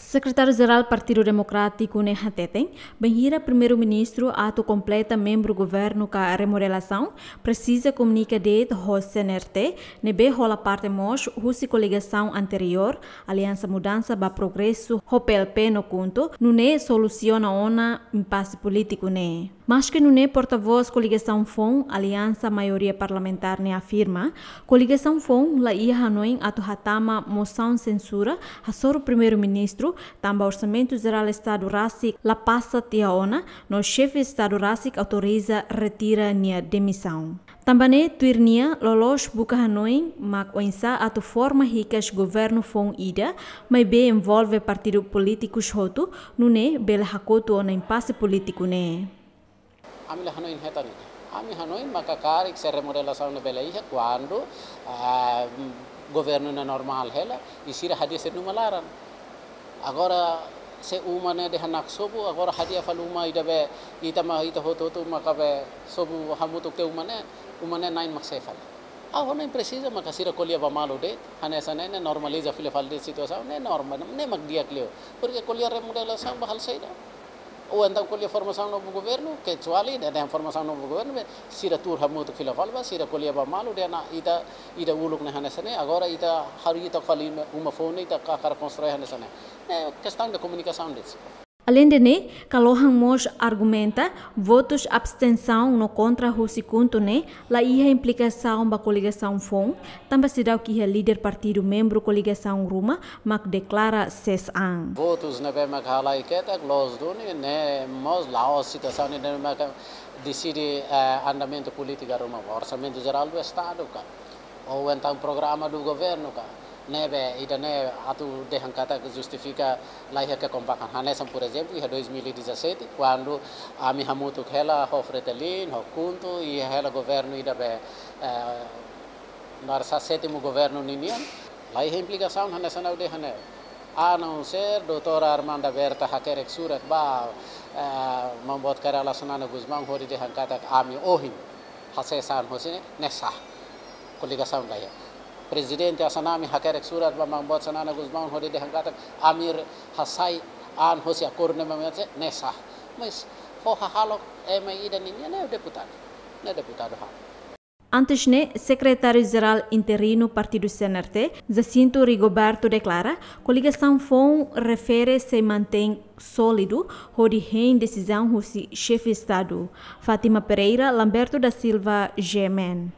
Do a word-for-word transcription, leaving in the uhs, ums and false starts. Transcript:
Sekretáriu-Jerál Partidu Demokrátiku ne'e hateten, bainhira Primeiru-Ministru atu kompleta membru governu ka remodelasaun, presiza komunika de'it ho C N R T, ne'ebé hola parte mós husi koligasaun anteriór, Aliansa Mudansa ba Progresu, ho P L P no KHUNTO, nune'e solusiona ona impase polítiku ne'e. Maske nune'e, portavós koligasaun foun, Aliansa Maioria Parlamentár ne'e afirma, koligasaun foun la iha hanoin atu hatama mosaun sensura hasoru Primeiru-Ministru, tanba Orsamentu Jerál Estadu rasik la pasa tiha ona, no Xefe Estadu rasik autoriza retira nia demisaun. Tanba ne'e, tuir nia, loloos buka hanoin mak oinsá atu forma hikas governu foun ida, maibé envolve partidu polítikus hotu, nune'e bele hakotu ona impase polítiku ne'e. Ami la hanoin hetan ne'e. Ami hanoin maka karik se remodelasaun ne'e bele iha kuandu, ah, governu ne'e normál hela, i sira hadi'a sira-nia uma laran. Agora se uma ne'e dehan naksobu, agora hadi'a fali uma ida be, ita ma, ita hotu-hotu maka be sobu hamutuk tiha uma ne'e, uma ne'e na'in mak sé fali. Ha'u hanoin presiza maka sira ko'alia ba malu de'it, hanesan ne'e, ne'e normaliza fila fali de'it situasaun, ne'e norma, ne'e mak di'ak liu. Porke ko'alia remodelasaun ba halo saida. Ou entaun ko'alia formasaun novu governu, kecuali dehan formasaun novu governu, be, sira tuur hamutuk fila fali ba, sira ko'alia ba malu, dehan ita, ita uluk ne'e hanesan ne'e, agora ita harii ita fali uma foun ne'e, ita hakarak konstrui hanesan ne'e. Ne'e kestaun de komunikasaun de'it. Aleinde ne'e, Kalohan mós argumenta, votus abstensaun no kontra husi KHUNTO ne'e, la iha implikasaun ba koligasaun foun, tanba seidauk iha líder partidu membru koligasaun ruma mak deklara ses an. Votus ne'ebé mak halai ketak, loos duni, ne'e mós la'ós situasaun ne'ebé mak deside, eh, andamentu polítika ruma, Orsamentu Jerál do Estadu ka, ou entaun programa do governu ka. Ne'ebé, ida-ne'e atu dehan katak justifika la iha kekompakan. Hanesan, por ezemplu, iha dois mil e dezassete, kuandu ami hamutuk hela ho Fretilin, ho KHUNTO, iha hela governu ida be, eh, Marsa sétimu governu ninian, la iha implikasaun hanesan ha'u dehan ne'e. A não ser doutora Armanda Berta hakerek surat ba, eh, Maun Boot Kay Rala Xanana Gusmão hodi dehan katak ami ohin hasees an hosi ne'e, ne'e sah. Koligasaun la iha. Prezidente Assanami hakerek surat ba Maun Boot Xanana Gusmão hodi dehan katak ami hasai an hosi akordu ne'ebé mak ne'e sah. Mas fó hahalok ema ida ninian, ne'e deputadu. Ne'e deputadu ha'u. Antes ne'e, Sekretáriu-Jerál Interinu Partidu C N R T, Jacinto Rigoberto deklara, koligasaun foun refere sei mantein sólidu hodi hein desizaun husi Xefe Estadu. Fátima Pereira, Lamberto da Silva, G M N.